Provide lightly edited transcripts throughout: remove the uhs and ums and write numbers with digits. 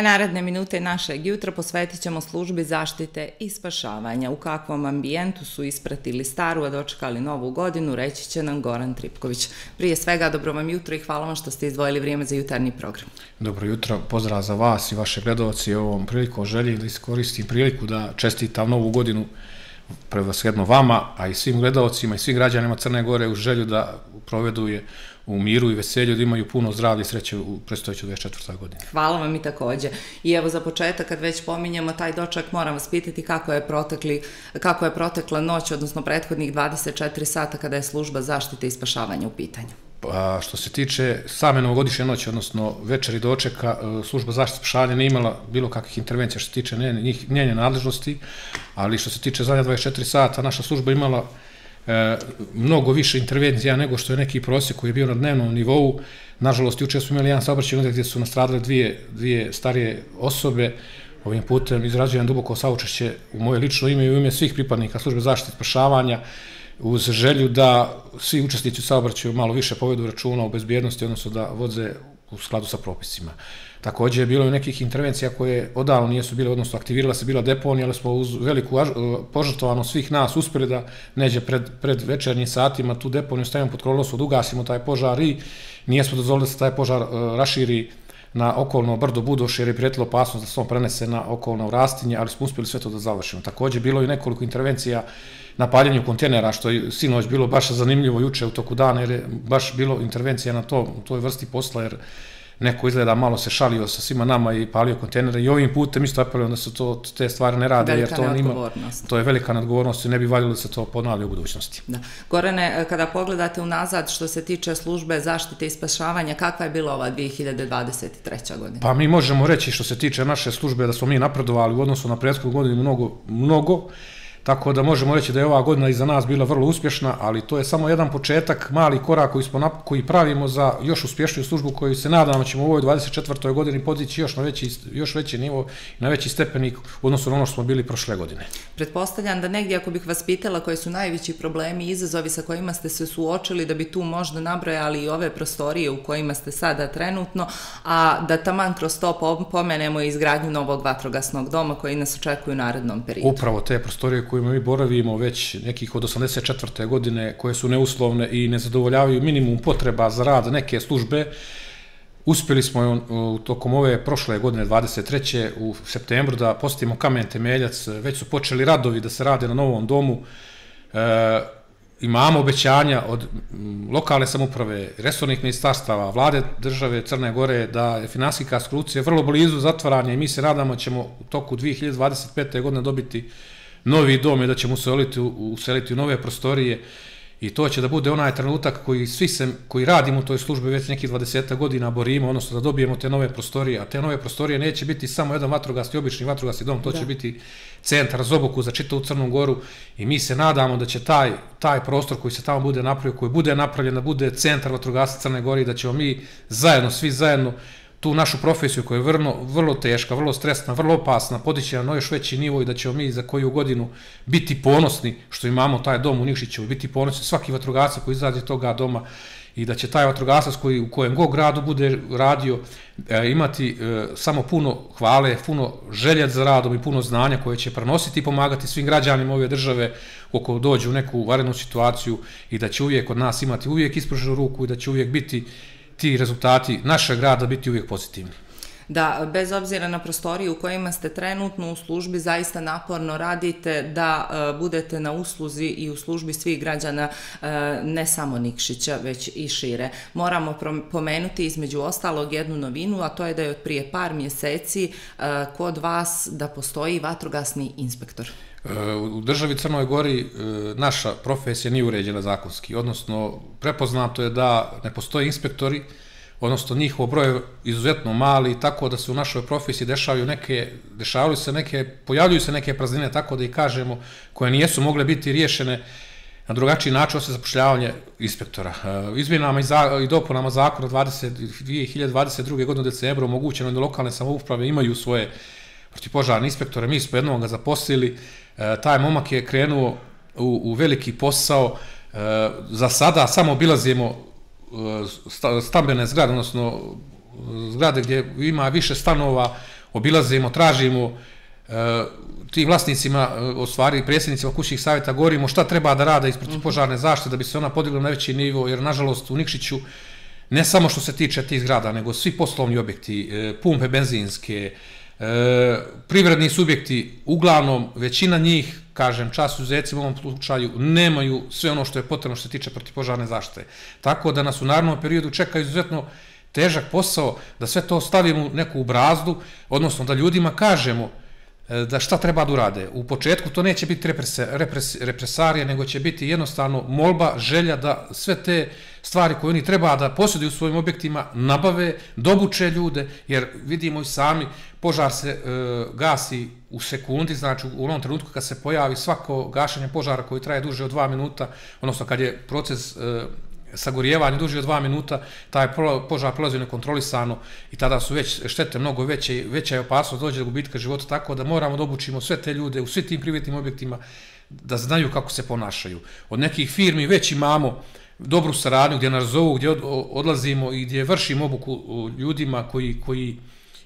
Naredne minute našeg jutra posvetit ćemo službi zaštite i spašavanja. U kakvom ambijentu su ispratili staru, a dočekali novu godinu, reći će nam Goran Tripković. Prije svega, dobro vam jutro i hvala vam što ste izdvojili vrijeme za jutarnji program. Dobro jutro, pozdrav za vas i vaše gledalci. Ovom prilikom želim da iskoristim priliku da čestitam novu godinu prevashodno vama, a i svim gledalcima i svim građanima Crne Gore u želju da provedu je u miru i veselju, da imaju puno zdravlja i sreće u predstojećoj 24. godini. Hvala vam i također. I evo za početak, kad već pominjemo taj doček, moram vas pitati kako je protekla noć, odnosno prethodnih 24 sata kada je služba zaštite i spašavanja u pitanju. Što se tiče same novogodišnje noći, odnosno večeri dočeka, služba zaštite i spašavanja nije imala bilo kakvih intervencija što se tiče njene nadležnosti, ali što se tiče zadnja 24 sata, naša služba imala mnogo više intervencija nego što je neki prosjek koji je bio na dnevnom nivou. Nažalost, juče smo imali jedan saobraćajni udar gdje su nastradale dvije starije osobe. Ovim putem izražujem duboko saučešće u moje lično ime i u ime svih pripadnika službe zaštite i spašavanja, uz želju da svi učesnici u saobraćaju malo više povedu računa o bezbjednosti, odnosno da voze u skladu sa propisima. Također je bilo i nekih intervencija koje odavno nisu bile, odnosno aktivirala se bila deponija, ali smo uz veliku požrtvovanost svih nas uspjeli da neđe pred večernjim satima tu deponiju stavimo pod kontrolu, da ugasimo taj požar i nijesmo dozvolili da se taj požar raširi na okolno brdo Budoš, jer je prijetila opasnost da se on prenese na okolno rastinje, ali smo uspjeli sve to da završimo. Također bilo i nekoliko intervencija na paljenju kontejnera, što je sinoć bilo baš zanimljivo juče u toku dana, jer je baš bilo intervencija na toj vrsti posla, jer neko izgleda malo se šalio sa svima nama i palio kontejnere i ovim putem isto apelujem da se te stvari ne rade, jer to je velika neodgovornost i ne bi valjalo da se to ponavlja u budućnosti. Gorane, kada pogledate unazad što se tiče službe zaštite i spašavanja, kakva je bila ova 2023. godina? Pa mi možemo reći što se tiče naše službe da smo mi napredovali u odnosu na prethodnu godinu mnogo, tako da možemo reći da je ova godina iza nas bila vrlo uspješna, ali to je samo jedan početak, mali korak koji pravimo za još uspješniju službu koju se nadamo ćemo u ovoj 24. godini podići još veći nivo i na veći stepenik u odnosu na ono što smo bili prošle godine. Pretpostavljam da negdje, ako bih vas pitala koji su najveći problemi i izazovi sa kojima ste se suočili, da bi tu možda nabrojali i ove prostorije u kojima ste sada trenutno, a da taman kroz to pomenemo i izgradnju novog vatrogasnog doma koji nas očekuju u narednom periodu. Upravo te prostorije kojima mi boravimo već nekih od 84. godine, koje su neuslovne i ne zadovoljavaju minimum potreba za rad neke službe. Uspjeli smo tokom ove prošle godine, 23. u septembru, da postavimo kamen temeljac. Već su počeli radovi da se rade na novom domu. Imamo obećanja od lokalne samouprave, resornih ministarstava, vlade države Crne Gore da je finansijska konstrukcija vrlo blizu zatvaranja i mi se nadamo ćemo u toku 2025. godine dobiti novi dom i da ćemo useliti u nove prostorije i to će da bude onaj trenutak koji radimo u toj službi već nekih 20 godina borimo, odnosno da dobijemo te nove prostorije, a te nove prostorije neće biti samo jedan obični vatrogasni dom, to će biti centar za obuku za čitavu Crnu Goru i mi se nadamo da će taj prostor koji se tamo bude napravio, koji bude napravljen da bude centar vatrogasca Crne Gore i da ćemo mi svi zajedno tu našu profesiju koja je vrlo teška, vrlo stresna, vrlo opasna, podići na još veći nivo i da ćemo mi za koju godinu biti ponosni što imamo taj dom u Nikšiću, biti ponosni svaki vatrogasac koji izađe toga doma i da će taj vatrogasac u kojem god gradu bude radio imati samo puno hvale, puno želje za radom i puno znanja koje će prenositi i pomagati svim građanima ove države ako dođu u neku vanrednu situaciju i da će uvijek od nas imati uvijek ispruženu ruku i da će uvijek biti ti rezultati našeg rada biti uvijek pozitivni. Da, bez obzira na prostoriju u kojima ste trenutno u službi, zaista naporno radite da budete na usluzi i u službi svih građana, ne samo Nikšića, već i šire. Moramo pomenuti između ostalog jednu novinu, a to je da je od prije par mjeseci kod vas da postoji vatrogasni inspektor. U državi Crnoj Gori naša profesija nije uređena zakonski, odnosno prepoznato je da ne postoje inspektori, odnosno njihov broj je izuzetno mali, tako da se u našoj profesiji pojavljuju se neke praznine, tako da i kažemo, koje nijesu mogle biti riješene na drugačiji način osim zapošljavanje inspektora. Izmjenama i dopunama zakona 2022. godine u decembru omogućeno je da lokalne samouprave imaju svoje protivpožarne inspektore, mi smo jednog ga zaposlili, taj momak je krenuo u veliki posao, za sada samo obilazimo stambene zgrade, odnosno zgrade gdje ima više stanova, obilazimo, tražimo tim vlasnicima, u stvari predsjednicima kućnih savjeta, govorimo šta treba da rade iz protivpožarne zaštite da bi se ona podigla na veći nivo, jer nažalost u Nikšiću ne samo što se tiče tih zgrada, nego svi poslovni objekti, pumpe benzinske, privredni subjekti, uglavnom većina njih, kažem, čast izuzecima u ovom slučaju, nemaju sve ono što je potrebno što se tiče protivpožarne zaštite. Tako da nas u narednom periodu čeka izuzetno težak posao da sve to stavimo u neku brazdu, odnosno da ljudima kažemo da šta treba da urade. U početku to neće biti represarija, nego će biti jednostavno molba, želja da sve te stvari koje oni treba da posjeduju u svojim objektima nabave, dobuče ljude, jer vidimo i sami, požar se gasi u sekundi, znači u onom trenutku kad se pojavi svako gašenje požara koji traje duže od 2 minuta, odnosno kad je proces sagorijevanje duže od 2 minuta, taj požar prolazi nekontrolisano i tada su već štete mnogo veće, veća je opasnost dođe do gubitka života, tako da moramo da obučimo sve te ljude u svim tim privatnim objektima da znaju kako se ponašaju. Od nekih firmi već imamo dobru saradnju gdje nas zovu, gdje odlazimo i gdje vršimo obuku ljudima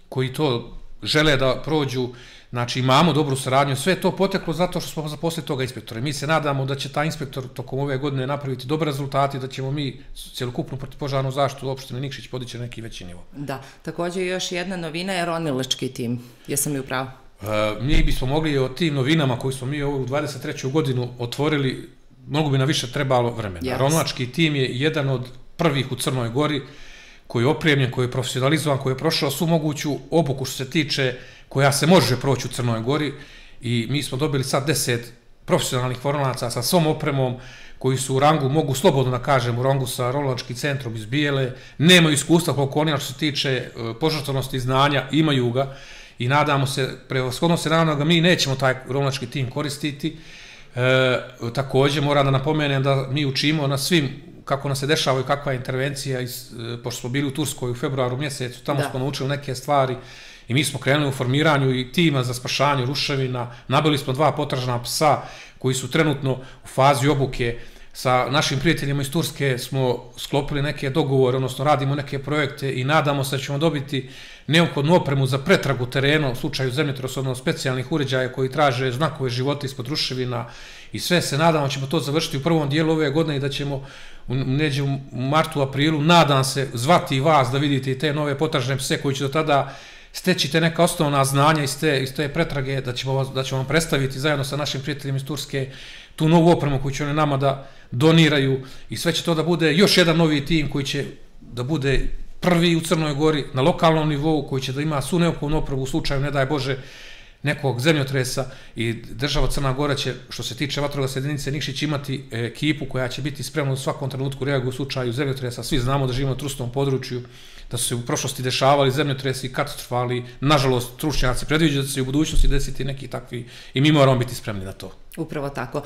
koji to žele da prođu. Znači imamo dobru saradnju, sve je to poteklo zato što smo zaposlili toga inspektora. Mi se nadamo da će taj inspektor tokom ove godine napraviti dobre rezultate i da ćemo mi cjelokupnu protivpožarnu zaštitu opštine Nikšić podići na neki veći nivo. Da, također još jedna novina je ronilački tim, jesam li u pravu? Mi bismo mogli o tim novinama koji smo mi ovu 23. godinu otvorili, mnogo bi nam više trebalo vremena. Ronilački tim je jedan od prvih u Crnoj Gori koji je opremljen, koji je profesionalizovan, koji je prošao svu moguću obuku što se tiče koja se može proći u Crnoj Gori i mi smo dobili sad 10 profesionalnih ronilaca sa svom opremom koji su u rangu, mogu slobodno da kažem, u rangu sa ronilačkim centrom iz Bijele, nemaju iskustva koliko oni što se tiče požrtvovnosti znanja, imaju ga i nadamo se, prevashodno se nadamo da mi nećemo taj ronilački tim koristiti. Također moram da napomenem da mi učimo na svim kako nas se dešava i kakva je intervencija, pošto smo bili u Turskoj u februaru mjesecu, tamo smo naučili neke stvari i mi smo krenuli u formiranju i tima za spašanje ruševina, nabili smo 2 potražna psa koji su trenutno u fazi obuke. Sa našim prijateljima iz Turske smo sklopili neke dogovore, odnosno radimo neke projekte i nadamo se da ćemo dobiti neophodnu opremu za pretragu terena u slučaju zemljotresa, odnosno specijalnih uređaja koji traže znakove života ispod ruševina i sve se nadamo ćemo to završiti u prvom dijelu ove godine i da ćemo neđe u martu, aprilu, nadam se, zvati vas da vidite i te nove potražne pse koji će do tada steći te neka osnovna znanja iz te pretrage, da ćemo vam predstaviti zajedno sa našim prijateljima iz Turske tu novu opremu koju će oni nama da doniraju i sve će to da bude još jedan novi tim koji će da bude prvi u Crnoj Gori na lokalnom nivou, koji će da ima svu neophodnu opremu u slučaju, ne daj Bože, nekog zemljotresa i država Crna Gora će, što se tiče vatrogasne jedinice Nikšić, imati ekipu koja će biti spremna u svakom trenutku reaguju u slučaju zemljotresa. Svi znamo da živimo na trusnom području, da su se u prošlosti dešavali zemljotresi katastrofalni, nažalost stručnjaci predviđaju da se u budućnosti desiti neki takvi i mi moramo biti spremni na to. Upravo tako.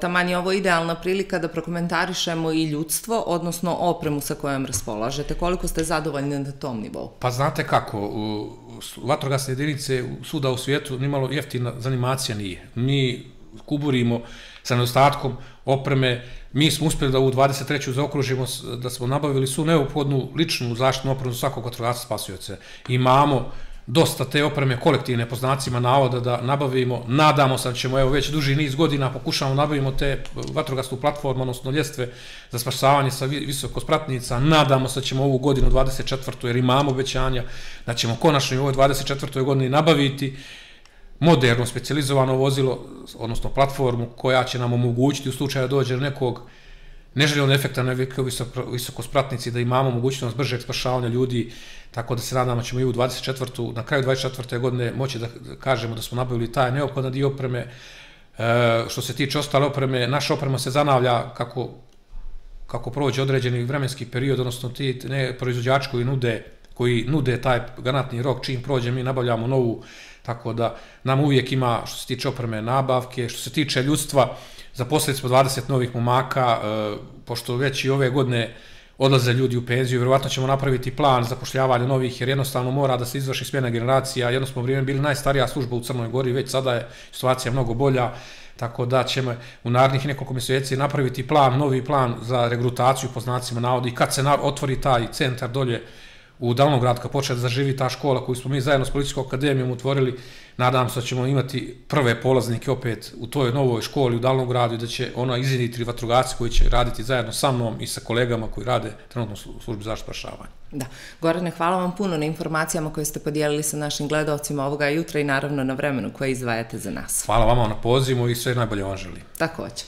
Taman je ovo idealna prilika da prokomentarišemo i ljudstvo, odnosno opremu sa kojom raspolažete. Koliko ste zadovoljni na tom nivou? Pa znate kako, vatrogasne jedinice svuda u svijetu nimalo jeftina zanimacija nije. Mi kuburimo sa nedostatkom opreme, mi smo uspjeli da u 23. zaokružimo da smo nabavili svu neophodnu ličnu zaštitnu opremu za svakog vatrogasca spasioca. Imamo dosta te opreme kolektivne po znacima navoda da nabavimo, nadamo se da ćemo evo već duži niz godina pokušamo nabavimo te vatrogasnu platformu, odnosno ljestve za spašavanje sa visokospratnica, nadamo se da ćemo ovu godinu 24. jer imamo obećanja da ćemo konačno i u ovoj 24. godini nabaviti moderno, specijalizovano vozilo, odnosno platformu koja će nam omogućiti u slučaju da dođe nekog neželjenog efekta na visokospratnici da imamo mogućnost bržeg spašavanja ljudi, tako da se nadamo da ćemo i u 24. na kraju 24. godine moći da kažemo da smo nabavili taj neophodan dio opreme. Što se tiče ostale opreme, naša oprema se zanavlja kako prođe određeni vremenski period, odnosno ti proizvođači koji nude taj garantni rok, čim prođe mi nabavljamo novu, tako da nam uvijek ima što se tiče opreme nabavke, što se tiče ljudstva, zaposlili smo 20 novih momaka, pošto već i ove godine odlaze ljudi u penziju, vjerovatno ćemo napraviti plan zapošljavanja novih, jer jednostavno mora da se izvrši smjena generacija, jedno smo vrijeme bili najstarija služba u Crnoj Gori, već sada je situacija mnogo bolja, tako da ćemo u narednih nekoliko mjeseci napraviti plan, novi plan za regrutaciju po znacima navoda i kad se otvori taj centar dolje u Davnogradu kad počne da zaživi ta škola koju smo mi zajedno s Policijskom akademijom otvorili, nadam se da ćemo imati prve polaznike opet u toj novoj školi u Davnogradu i da će ona iznjedriti vatrogasci koji će raditi zajedno sa mnom i sa kolegama koji rade trenutno u službi zaštite spašavanja. Da. Gorane, hvala vam puno na informacijama koje ste podijelili sa našim gledalcima ovoga jutra i naravno na vremenu koje izdvajate za nas. Hvala vama na pozivu i sve najbolje vam želim. Također.